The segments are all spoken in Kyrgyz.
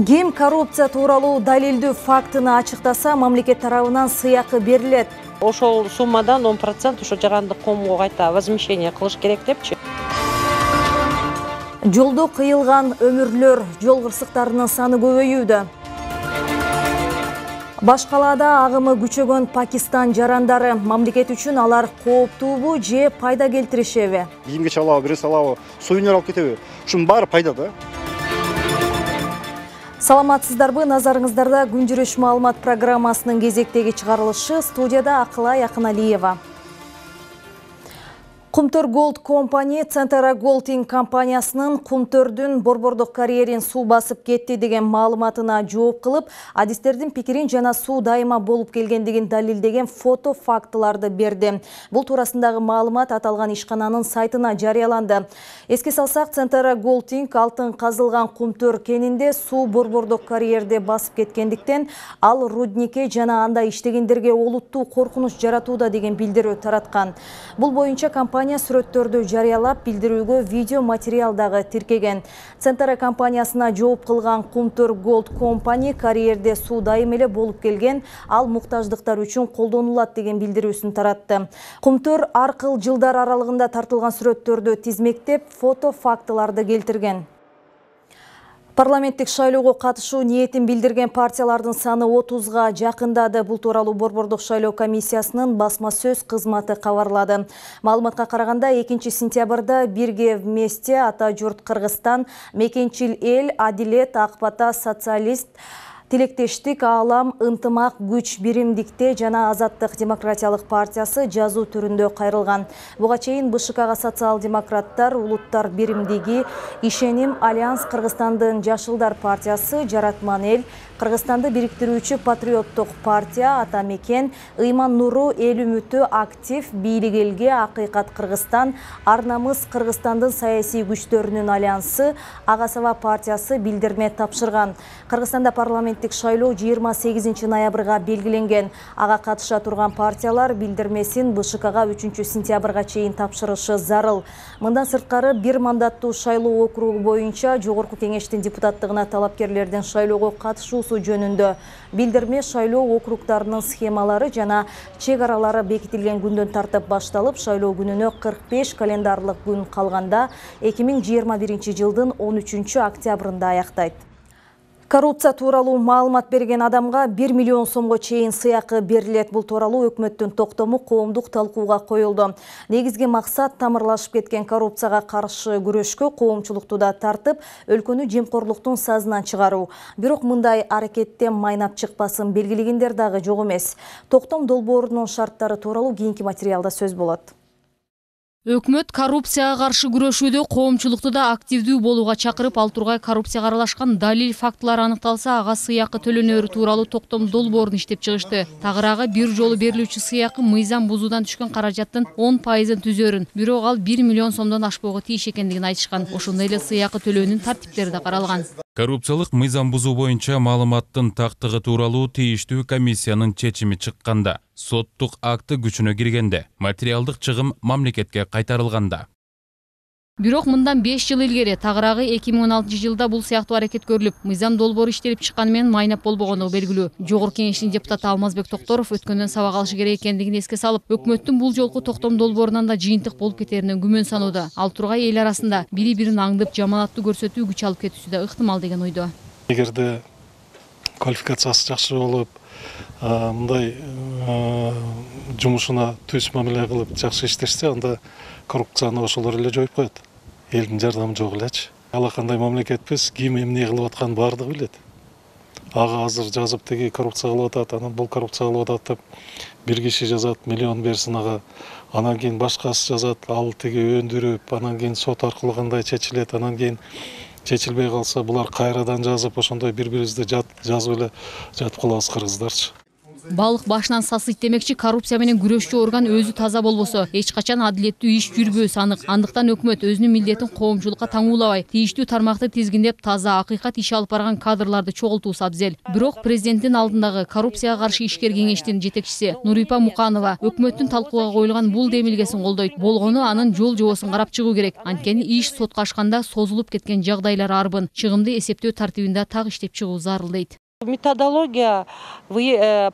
Ким коррупция тууралуу далилдүү фактыны ачыктаса, мамлекет тарабынан сыйакы берилет. Ошол суммадан 10% ошо жарандык коомго кайта возмещение кылыш керек депчи. Жолдо кыйылган өмүрлөр, жол кырсыктарынын саны көбөйүүдө. Баш калаада агымы күчөгөн Пакистан жарандары, мамлекет үчүн алар кооптуубу же пайда келтиришеби? Кийимге чалабы, бирөө салабы, сувенир алып кетеби? Ушунун баары пайда да. Саламатсыздарбы, назарыңыздарда күн жүрүш маалымат программасынын кезектеги чыгарылышы. Студияда Акылай Акыналиева. Кумтөр Gold компания Centara Golding компаниясынын Кумтөрдүн борбордук карьерин суу басып кетти деген маалыматына жооп кылып, адистердин пикирин жана суу дайыма болуп келгендигин далилдеген фото фактыларды берди. Бул туурасындагы маалымат аталган ишкананын сайтына жарыяланды. Эске салсак, Centara Golding алтын казылган Кумтөр кенинде суу борбордук карьерде басып кеткендиктен, ал рудникке жана анда иштегендерге олуттуу коркунуч жаратууда деген билдирүү тараткан. Бул боюнча компания сүрөттөрдү жарыялап, билдирүүгө видео материал дагы тиркеген. Centara компаниясына жооп кылган Кумтөр Gold компания карьерде суу дайым эле болуп келген, ал муктаждыктар үчүн колдонулат деген билдирүүсүн таратты. Кумтөр ар кыл жылдар аралыгында тартылган сүрөттөрдү тизмектеп, фото фактыларды келтирген. Парламенттик шайлоого катышуу ниетин билдирген партиялардын саны 30га жакындады. Бул тууралуу борбордук шайлоо комиссиясынын басма сөз кызматы кабарлады. Маалыматка караганда 2-сентябрда Бирге вместе, Ата журт Кыргызстан, Мекенчил эл, Адилет, Ак бата, Социалист, Тилектештик, Аалам, Ынтымак, Күч, Биримдикте жана Азаттык демократиялык партиясы жазуу түрүндө кайрылган. Буга чейин БШКга социал-демократтар, Улуттар биримдиги, Ишеним, Альянс Кыргызстандын Жашылдар партиясы, Жаратман эл, Кыргызстанды бириктирүүчү Патриоттук партия, Ата мекен, Ыйман нуру, Эл үмүтү, Актив, Бийлик элге, Акыйкат Кыргызстан, Арнамыз Кыргызстандын саясий күчтөрүнүн альянсы, Агасова партиясы билдирме тапшырган. Кыргызстанда парламенттик шайлоо 28 ноябрга белгиленген. Ага катыша турган партиялар билдирмесин БШКга 3-сентябрга чейин тапшырышы зарыл. Мындан сырткары бир мандаттуу шайлоо округу боюнча Жогорку кеңештин депутаттыгына талапкерлердин шайлоого катышуусу жөнүндө билдирме шайлоо округдарынын схемалары жана чек аралары бекитилген күндөн тартып башталып, шайлоо күнүнө 45 календарлык күн калганда 2021 жылдын 13 октябрында аяктайт. Коррупция тууралуу маалымат берген адамга 1 миллион сомго чейин сыйакы берилет. Бул тууралуу өкмөттүн токтому коомдук талкууга коюлду. Негизги максат тамырлашып кеткен коррупцияга каршы күрөшкө коомчулукту да тартып, өлкөнү жемкорлуктун сазынан чыгаруу. Бирок мындай аракеттен майнап чыкпасын белгилегендер дагы жок эмес. Токтом долбоорунун шарттары тууралуу кийинки материалда сөз болот. Өкмөт коррупцияга каршы күрөшүүдө коомчулукту да активдүү болууга чакырып, ал тургай коррупцияга аралашкан далил фактылар аныкталса, ага сыйакы төлөнөрү тууралуу токтом долбоорун иштеп чыгышты. Тагыраагы бир жолу берилүүчү сыйакы мыйзам бузуудан түшкөн каражаттын 10% түзөрүн, бирок ал 1 миллион сомдон ашпоого тийиш экендигин айтышкан. Ошондой эле сыйакы төлөөнүн тартиптери да каралган. Коррупциялык мыйзам бузуу боюнча маалыматтын тактыгы тууралуу тийиштүү комиссиянын чечими чыкканда, соттук акты күчүнө киргенде, материалдык чыгым мамлекетке кайтарылганда. Бирок мындан 5 жыл илгери тагыраагы 2016 жылда бул сыяктуу аракет көрүлүп, мыйзам долбоору иштелип чыкканы менен майнап болбогондугу белгилүү. Жогорку кеңештин депутаты Алмазбек Токторов өткөндөн сабак алышы керек экендигин эске салып, өкмөттүн бул жолку токтом долбоорунан да жыйынтык болуп кетерине күмөн санууда. Ал тургай эл арасында бири-бирин аңдып, жаманаттуу көрсөтүү күч алып кетүүсү да ыктымал деген ойдо. Эгерде квалификациясы жакшы болуп, мындай жумушуна түз мамиле кылып жакшы иштешсе, анда коррупцияны ошолор эле жоюп коет. Элдин жардамы жок элечи. Ала кандай мамлекетпиз, ким эмне кылып атканын баардыгы билет. Ага азыр жазып теги коррупция кылып атат, анан бул коррупция кылып атат деп бир киши жазат, миллион берсин ага. Анан кийин башкасы жазат, ал теги өндүрүп, анан кийин сот аркылуу кандай чечилет, анан кийин чечилбей калса, булар кайрадан жазып, ошондой бири-бирибизди жазып эле жатып калабыз кыргыздарчы. Балык башынан сасыйт демекчи, коррупция менен күрөшчү орган өзү таза болбосо эч качан адилеттүү иш жүрбөөсү анык. Андыктан өкмөт өзүнүн милдетин коомчулукка таңуулабай, тийиштүү тармакты тизгиндеп, таза акыйкат иш алып барган кадрларды чогултуусу абзел. Бирок президенттин алдындагы коррупцияга каршы ишкер кеңештин жетекчиси Нурипа Муканова өкмөттүн талкууга коюлган бул демилгесин колдойт. Болгону анын жол жобосун карап чыгуу керек. Анткени иш сотко ашканда созулуп кеткен жагдайлар арбын. Чыгымды эсептөө тартибинде так иштеп чыгуу зарыл дейт. Методология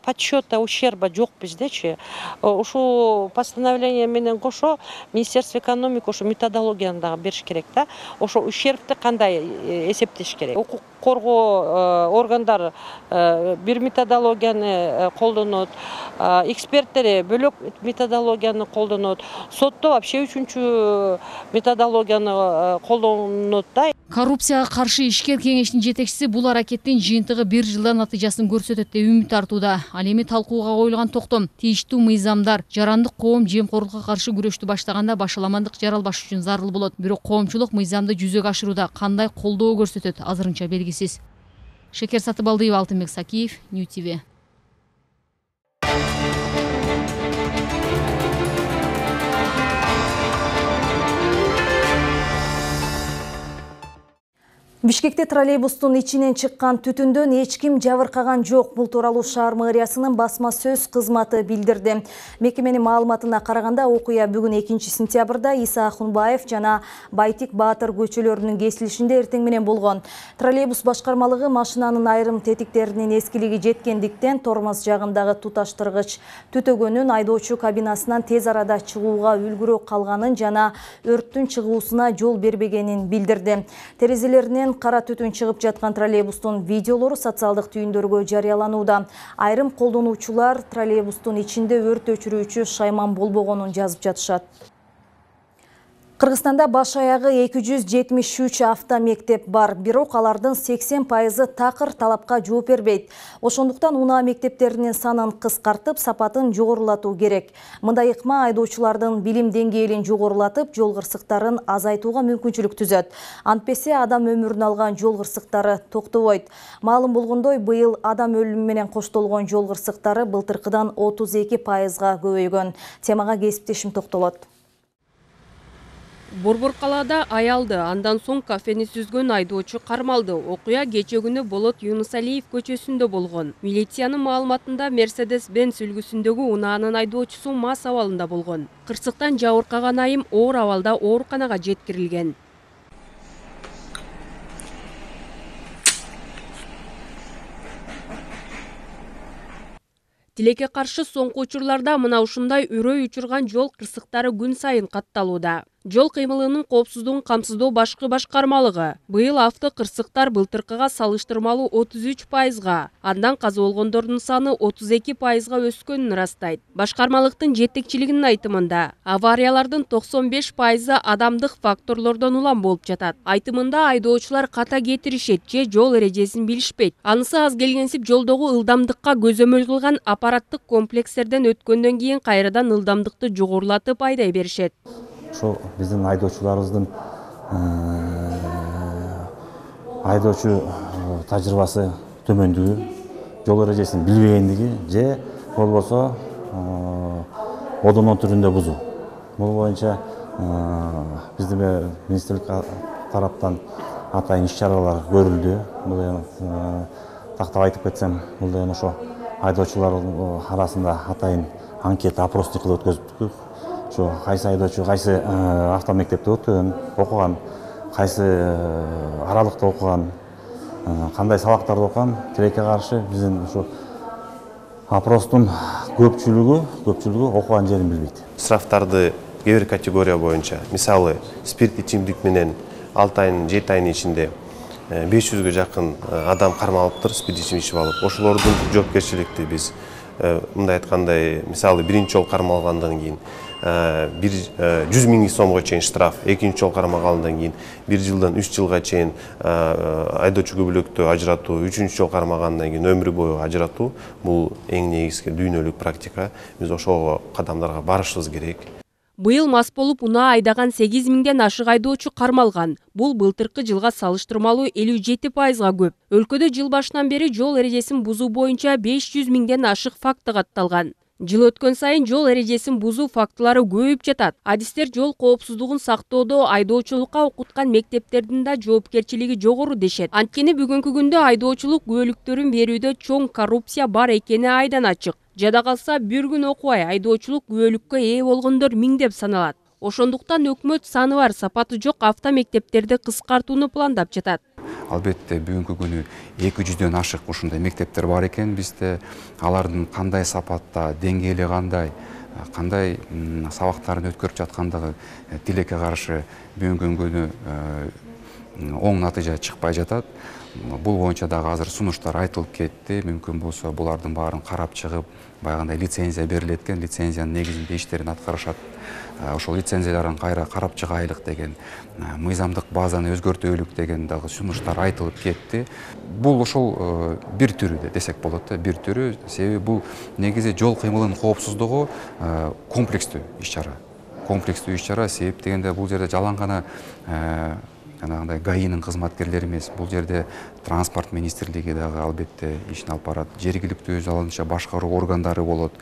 подсчета ущерба жок биздечи. Ушу постановление менен кошо Министерство экономики ушу методологияны дагы бериш керек да. Ошо ущербти кандай эсептеш керек. Укук коргоо органдары бир методологияны колдонот, эксперттери бөлөк методологияны колдонот, сотто вообще үчүнчү методологияны колдонот да. Коррупцияга каршы ишкер кеңештин жетекчиси бул аракеттин жыйынтыгы 1 жылда натыйжасын көрсөтөт деп үмүт артууда. Ал эми талкууга коюлган токтом тийиштүү мыйзамдар, жарандык коом жемкорлукка каршы күрөштү баштаганда башаламандык жаралбаш үчүн зарыл болот. Бирок коомчулук мыйзамды жүзөгө ашырууда кандай колдоо көрсөтөт азырынча белгисиз. Шекер Сатыбалдиева, Алтынбек Сакиев, New TV. Бишкекте троллейбустун ичинен чыккан түтүндөн эч ким жабыркаган жок. Бул тууралуу шаар мэриясынын басма сөз кызматы билдирди. Мекеменин маалыматына караганда, окуя бүгүн 2-сентябрда Иса Ахунбаев жана Байтик Баатыр көчөлөрүнүн кесилишинде эртең менен болгон. Троллейбус башкармалыгы машинанын айрым тетиктеринин эскилиги жеткендиктен тормоз жагындагы туташтыргыч түтөгөнүн айдоочу кабинасынан тез арада чыгууга үлгүрө калганын жана өрттүн чыгуусуна жол бербегенин билдирди. Терезелеринен кара түтүн чыгып жаткан троллейбустун видеолору социалдык түйүндөргө жарыяланууда. Айрым колдонуучулар троллейбустун ичинде өрт өчүрүүчү шайман болбогонун жазып жатышат. Кыргызстанда баш аягы 273 автомектеп бар, бирок алардын 80% такыр талапка жооп бербейт. Ошондуктан унаа мектептеринин санын кыскартып, сапатын жогорулатуу керек. Мындай ыкма айдоочулардын билим деңгээлин жогорулатып, жол кырсыктарын азайтууга мүмкүнчүлүк түзөт. Антпесе адам өмүрүн алган жол кырсыктары токтобойт. Маалым болгондой, быйыл адам өлүмү менен коштолгон жол кырсыктары былтыркыдан 32%га көбөйгөн. Темага кесиптешим токтолот. Борбор калаада аялды, андан соң кафени сүзгөн айдоочу кармалды. Окуя кече күнү Болот Юнусалиев көчөсүндө болгон. Милициянын маалыматында Mercedes-Benz үлгүсүндөгү унаанын айдоочусу мас абалында болгон. Кырсыктан жабыркаган айым оор абалда ооруканага жеткирилген. Тилекке каршы соңку учурларда мына ушундай үрөй учурган жол кырсыктары күн сайын катталууда. Жол кыймылынын коопсуздугун камсыздоо башкы башкармалыгы быйыл авто кырсыктар былтыркыга салыштырмалуу 33%, андан каза болгондордун саны 32%га өскөнүн ырастайт. Башкармалыктын жетекчилигинин айтымында, авариялардын 95%-ы адамдык факторлордон улам болуп жатат. Айтымында айдоочулар ката кетиришет же жол эрежесин билишпейт. Анысы аз келгенсип жолдогу ылдамдыкка көзөмөл кылган аппараттык комплекстерден өткөндөн кийин кайрадан ылдамдыкты жогорулатып айдай беришет. Ошо биздин айдоочуларыбыздын айдоочу тажрыйбасы төмөндүгү, жол эрежесин билбегендиги же болбосо одоно түрүндө бузуу. Бул боюнча биздин министрлик тараптан атайын иш-чаралар көрүлдү. Бул тактап айтып кетсем, бул ошо айдоочулар арасында атайын анкета, опросник кылып өткөздүк. Ошо кайсы айдоочу кайсы автомектепте окуган, кайсы аралыкта окуган, кандай сабактарды окуган, тилекке каршы биздин ошо опростун көпчүлүгү окуган жерин билбейт. Штрафтарды кээ бир категория боюнча, мисалы, спирт ичимдик менен 6 айдын 7 айдын ичинде 500-гө жакын адам кармалыптыр, спирт ичим ичип алып. Ошолордун жоопкерчиликти биз мындай айткандай, мисалы, биринчи жолу кармалгандан кийин 100 000 сомго чейин штраф, экинчи жолу кармалгандан кийин 1 жылдан 3 жылга чейин айдоочу көбөлөктү ажыратуу, үчүнчү жолу кармалгандан кийин өмүр бою ажыратуу. Бул эң негизги дүйнөлүк практика. Биз ошол кадамдарга барышыбыз керек. Быйыл мас болуп унаа айдаган 8 миңден ашык айдоочу кармалган. Бул былтыркы жылга салыштырмалуу 57%га көп. Өлкөдө жыл башынан бери жол эрежесин бузуу боюнча 500 миңден ашык факты катталган. Жыл өткөн сайын жол эрежесин бузуу фактылары көбөйүп жатат. Адистер жол коопсуздугун сактоодо айдоочулукка окуткан мектептердин да жоопкерчилиги жогору дешет. Анткени бүгүнкү күндө айдоочулук күбөлүктөрүн берүүдө чоң коррупция бар экени айдан ачык. Жада калса бир күн окубай айдоочулук күбөлүккө ээ болгондор миңдеп саналат. Ошондуктан өкмөт саны бар, сапаты жок автомектептерди кыскартууну пландап жатат. Албетте бүгүнкү күнү 200дөн ашык ушундай мектептер бар экен бизде. Алардын кандай сапатта, деңгээли кандай сабактарын өткөрүп жаткандыгы тилекке каршы бүгүнкү күнү оң натыйжа чыкпай жатат. Бул боюнча дагы азыр сунуштар айтылып кетти. Мүмкүн болсо булардын баарын карап чыгып, баягындай лицензия берилет экен, лицензиянын негизинде иштерин аткарышат. Ошол лицензияларын кайра карап чыгайлык деген, мыйзамдык базаны өзгөртөлүк деген дагы сунуштар айтылып кетти. Бул ошол бир түрү десек болот да, бир түрү. Себеби бул негизи жол кыймылынын коопсуздугу комплекстүү иш-чара. Комплекстүү иш-чара, себеп дегенде бул жерде жалаң гана жанагындай ГАИнин кызматкерлери эмес, бул жерде транспорт министрлиги дагы албетте ишин алып барат, жергиликтүү өз алынча башкаруу органдары болот.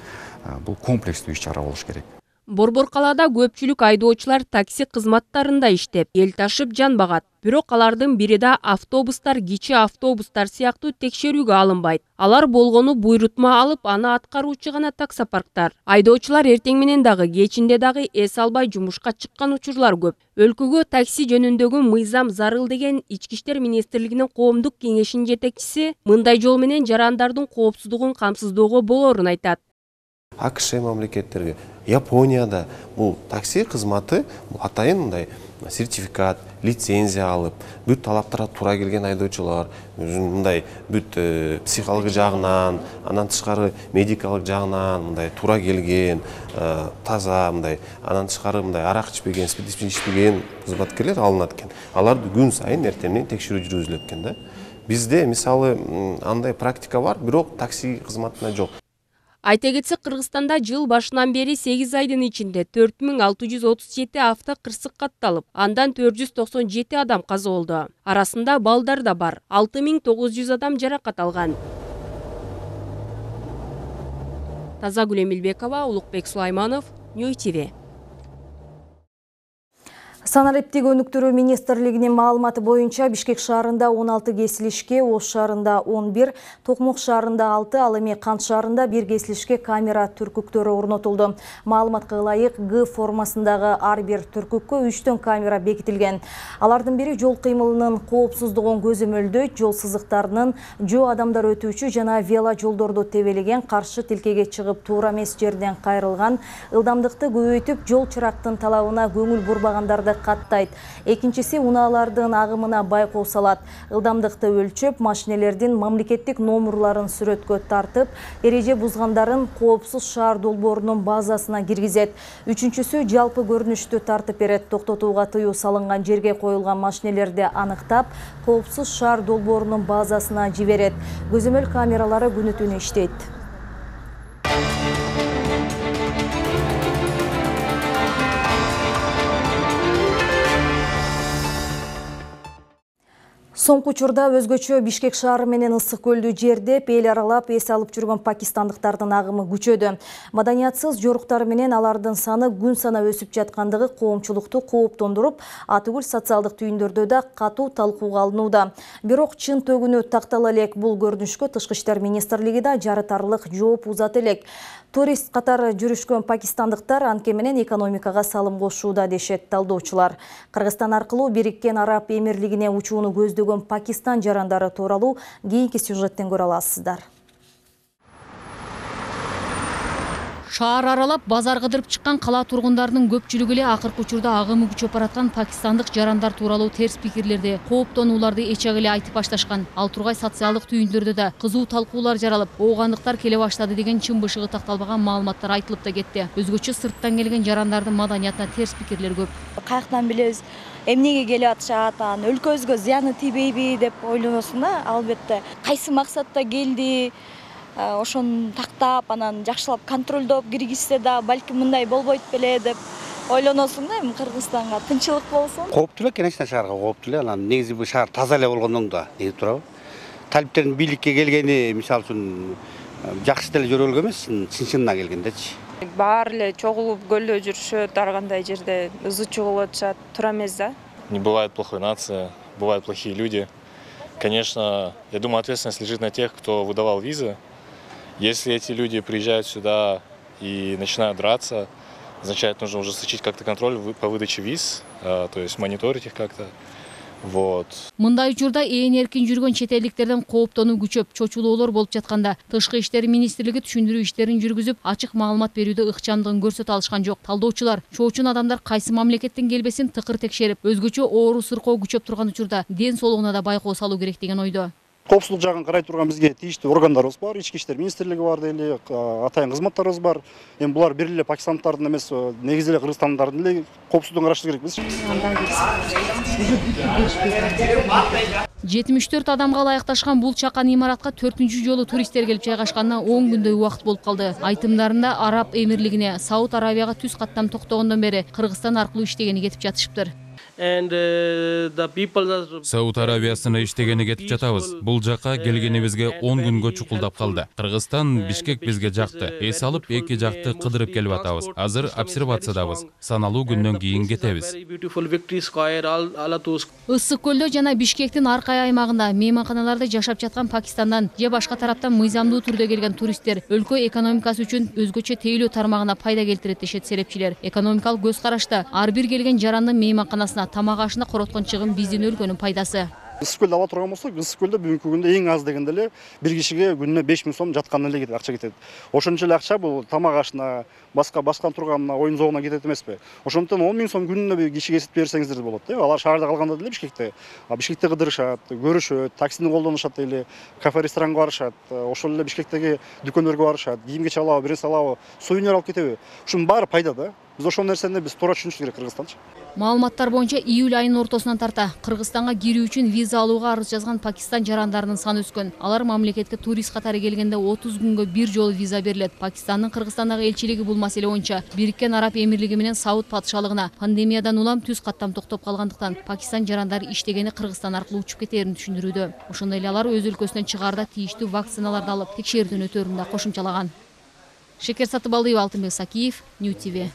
Бул комплекстүү иш-чара болуш керек. Борбор калаада көпчүлүк айдоочулар такси кызматтарында иштеп, эл ташып жан багат. Бирок алардын бири да автобустар, кичи автобустар сыяктуу текшерүүгө алынбайт. Алар болгону буйрутма алып, аны аткаруучу гана таксопарктар. Айдоочулар эртең менен дагы, кечинде дагы эс албай жумушка чыккан учурлар көп. Өлкөгө такси жөнүндөгү мыйзам зарыл деген Ички иштер министрлигинин коомдук кеңешинин жетекчиси мындай жол менен жарандардын коопсуздугун камсыздоого болорун айтат. АКШ мамлекеттерге, Японияда бул такси кызматы атайын мындай сертификат, лицензия алып, бүт талаптарга туура келген айдоочулар, мындай бүт психологик жагынан, андан тышкары медикалык жагынан мындай туура келген, таза мындай, андан тышкары мындай арак ичпеген, спирт ичпеген кызматкерлер алынат экен. Аларды күн сайын эртеңнен текшерүү жүргүзүлөт экен да. Бизде мисалы андай практика бар, бирок такси кызматына жок. Айта кетсек, Кыргызстанда жыл башынан бери 8 айдын ичинде 4637 авто кырсык катталып, андан 497 адам каза болду. Арасында балдар да бар. 6900 адам жаракат алган. Тазагүл Эмилбекова, Улукбек Сулайманов, Нью ТВ. Санариптик өнүктүрүү министрлигинин маалыматы боюнча Бишкек шаарында 16 кесилишке, Ош шаарында 11, Токмок шаарында 6, ал эми Кант шаарында 1 кесилишке камера түркүктөрү орнотулду. Маалыматка ылайык Г формасындагы ар бир түркүккө 3 камера бекитилген. Алардын бири жол кыймылынын коопсуздугун көзөмөлдөйт, жол сызыктарынын, жөө адамдар өтүүчү жана вело жолдорду тебелеген, каршы тилкеге чыгып туура эмес жерден кайрылган, ылдамдыкты көбөйтүп, жол чырактын талабына көңүл бурбагандарды каттайт. Экинчиси унаалардын агымына байкоо салат. Ылдамдыкты өлчөп, машинелердин мамлекеттик номурларын сүрөткө тартып, эреже бузгандарын коопсуз шаар долбоорунун базасына киргизет. Үчүнчүсү жалпы көрүнүштү тартып берет. Токтотууга тыюу салынган жерге коюлган машинелерди аныктап, коопсуз шаар долбоорунун базасына жиберет. Көзөмөл камералары күнү түнү иштейт. Соңку учурда өзгөчө Бишкек шаары менен Ысык көлдү жердеп, эл аралап эс алып жүргөн пакистандыктардын агымы күчөдү. Маданиятсыз жоруктар менен алардын саны күн сана өсүп жаткандыгы коомчулукту кооптондуруп, Атыгүл социалдык түйүндөрдө да катуу талкууга алынууда. Бирок чын төгүнү тактала элек бул көрүнүшкө Тышкы иштер министрлиги да жарытарлык жооп узаты элек. Турист катары жүрүшкөн пакистандыктар анткени менен экономикага салым кошууда дешет талдоочулар. Кыргызстан аркылуу Бириккен Араб Эмирлигине учууну көздөгөн Пакистан жарандары тууралуу кийинки сюжеттен көрө аласыздар. Шаар аралап базар кыдырып чыккан кала тургундарынын көпчүлүгү эле акыркы учурда агымы күчөп бараткан пакистандык жарандар тууралуу терс пикирлерди, кооптонууларды эчек эле айтып башташкан. Ал тургай социалдык түйүндөрдө да кызуу талкуулар жаралып, оогандыктар келе баштады деген чын бышыгы такталбаган маалыматтар айтылып да кетти. Өзгөчө сырттан келген жарандардын маданиятына терс пикирлер көп. Каяктан билебиз, эмнеге келип атышат, өлкөбүзгө зыяны тийбейби деп ойлоносуң да, албетте. Кайсы максатта келди, ошону тактап, анан жакшылап контролдоп киргизсе да балким мындай болбойт беле деп ойлоносуң да, эми Кыргызстанга тынчылык болсун. Кооптуу эле конечно шаарга, кооптуу эле. Анан негизи бул шаар таза эле болгондон да негизи турабы. Талиптердин бийликке келгени, мисалы үчүн, жакшы деле жөрөлгө эмес, чын-чынына келгендечи. Баары эле чогулуп көлдө жүрүшөт, ар кандай жерде ызы чыгылып атышат, тура эмес да. Не бывает плохой нации, бывают плохие люди. Конечно, я думаю, ответственность лежит на тех, кто выдавал визы. Если эти люди приезжают сюда и начинают драться, означает, нужно ужесточить как-то контроль по выдаче виз, то есть мониторить их как-то. Вот. Мындай учурда ээн эркин жүргөн чет элдиктерден кооптонуу күчөп, чочулоолор болуп жатканда, Тышкы иштер министрлиги түшүндүрүү иштерин жүргүзүп, ачык маалымат берүүдө ыкчамдыгын көрсөтө алышкан жок. Талдоочулар чоочун адамдар кайсы мамлекеттен келбесин тыкыр текшерип, өзгөчө оору сыркоо күчөп турган учурда ден соолугуна да байкоо салуу керек деген ойдо. Коопсуздук жагын карай турган бизге тийиштүү органдарыбыз бар, Ички иштер министрлиги бар дейли, атайын кызматтарыбыз бар. Эми булар бир эле пакистандардын эмес, негизи эле кыргызстандардын эле коопсуздугун караштыруу керекпиз. 74 адамга ылайыкташкан бул чакан имаратка 4-үнчү жолу туристтер келип жайгашканына 10 күндөй убакыт болуп калды. Айтымдарында Араб Эмирлигине, Сауд Арабияга түз каттам токтогондон бери Кыргызстан аркылуу иштегени кетип жатышыптыр. Сауд Арабиясына иштегени кетип жатабыз. Бул жакка келгенибизге 10 күнгө чукулдап калды. Кыргызстан, Бишкек бизге жакты. Эс алып эки жакты кыдырып келип атабыз. Азыр обсервациядабыз. Саналуу күндөн кийин кетебиз. Ысык көлдө жана Бишкектин аркай аймагында мейманканаларда жашап жаткан Пакистандан же башка тараптан мыйзамдуу түрдө келген туристтер өлкө экономикасы үчүн өзгөчө тейлөө тармагына пайда келтирет дешет серепчилер. Экономикалык көз карашта ар бир келген жарандын мейманканасына тамак ашына короткон чыгым биздин өлкөнүн пайдасы. Ысык көлдө ала турган болсок, ысык көлдө бүгүнкү күндө эң аз дегенде эле бир кишиге күнүнө 5000 сом жаткан эле кетет, акча кетет. Ошончо эле акча бул тамак ашына, башка турган оюн зоогуна кетет эмеспи? Ошондуктан 10 000 сом күнүнө бир кишиге эсептеп берсеңиздер болот. Алар шаарда калганда деле Бишкекте, Бишкекте кыдырышат, көрүшөт, таксини колдонушат эле, кафе, ресторанга барышат, ошол эле Бишкектеги дүкөндөргө барышат, кийим кече алабы, бир нерсе алабы, сувенир алып кетеби? Ушунун баары пайда да. Биз ошол нерсени биз туура түшүнүш керек Кыргызстанчы. Маалыматтар боюнча июль айынын ортосунан тарта Кыргызстанга кирүү үчүн виза алууга арыз жазган Пакистан жарандарынын саны өскөн. Алар мамлекетке турист катары келгенде 30 күнгө бир жолу виза берилет. Пакистандын Кыргызстандагы элчилиги бул маселе боюнча Бириккен Араб Эмирлиги менен Сауд патшалыгына пандемиядан улам түз каттам токтоп калгандыктан Пакистан жарандары иштегени Кыргызстан аркылуу учуп кетээрин түшүндүрүүдө. Ошондой эле алар өз өлкөсүнөн чыгаарда тийиштүү вакциналарды алып текшерүүдөн өтөөрүн да кошумчалаган. Шекер Сатыбалдиева, Алтынбек Сакиев, New TV.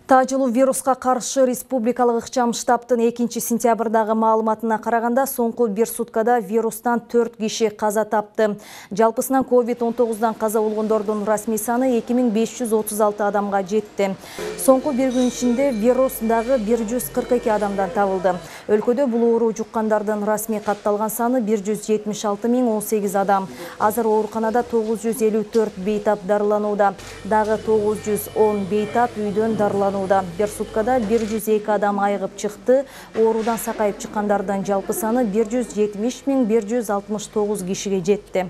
Тажылуу вируска каршы республикалык ыкчам штабтын 2-сентябрдагы маалыматына караганда соңку бир суткада вирустан 4 киши каза тапты. Жалпысынан COVID-19дан каза болгондордун расмий саны 2536 адамга жетти. Соңку бир күн ичинде вирус дагы 142 адамдан табылды. Өлкөдө бул оору жуккандардын расмий катталган саны 176.018 адам. Азыр ооруканада 954 бейтап дарыланууда. Дагы 910 бейтап үйдөн дарыланууда. Бир суткада 102 адам айыгып чыкты. Оорудан сакайып чыккандардын жалпы саны 170.169 кишиге жетти.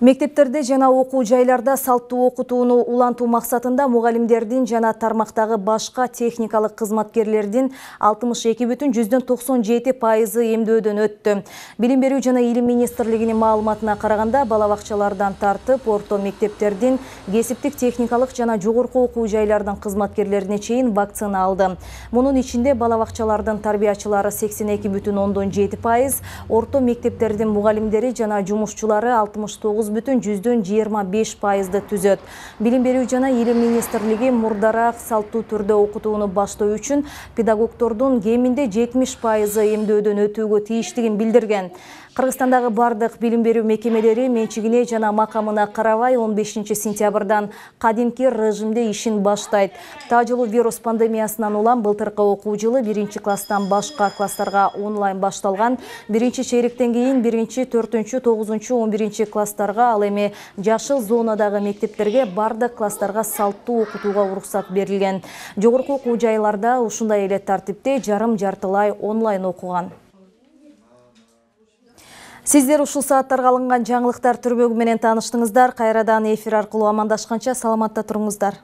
Мектептерде жана окуу жайларда салттуу окутууну улантуу максатында мугалимдердин жана тармактагы башка техникалык кызматкерлердин 62,97% эмдөөдөн өттү. Билим берүү жана илим министрлигинин маалыматына караганда бала бакчалардан тартып, орто мектептердин кесиптик техникалык жана жогорку окуу жайлардын кызматкерлерине чейин вакцина алды. Мунун ичинде бала бакчалардын тарбиячылары 82,7%, орто мектептердин мугалимдери жана жумушчулары 69,25% түзөт. Билим берүү жана илим министрлиги мурдараак салттуу түрдө окутууну баштоо үчүн педагогдордун кеминде 70% эмдөөдөн өтүүгө тийиштигин билдирген. Кыргызстандагы бардык билим берүү мекемелери менчигине жана макамына карабай 15 сентябрдан кадимки режимде ишин баштайт. Тажылуу вирус пандемиясынан улам былтыркы окуу жылы 1-класстан башка класстарга онлайн башталган. Биринчи чейректен кийин 1-4, 9, 11 класстарга, ал эми жашыл зонадагы мектептерге бардык класстарга салттуу окутууга уруксат берилген. Жогорку окуу жайларда ушундай эле тартипте жарым-жартылай онлайн окуган. Сиздер ушул сааттарга алынган жаңылыктар түрмөгү менен тааныштыңыздар. Кайрадан эфир аркылуу амандашканча саламатта туруңуздар.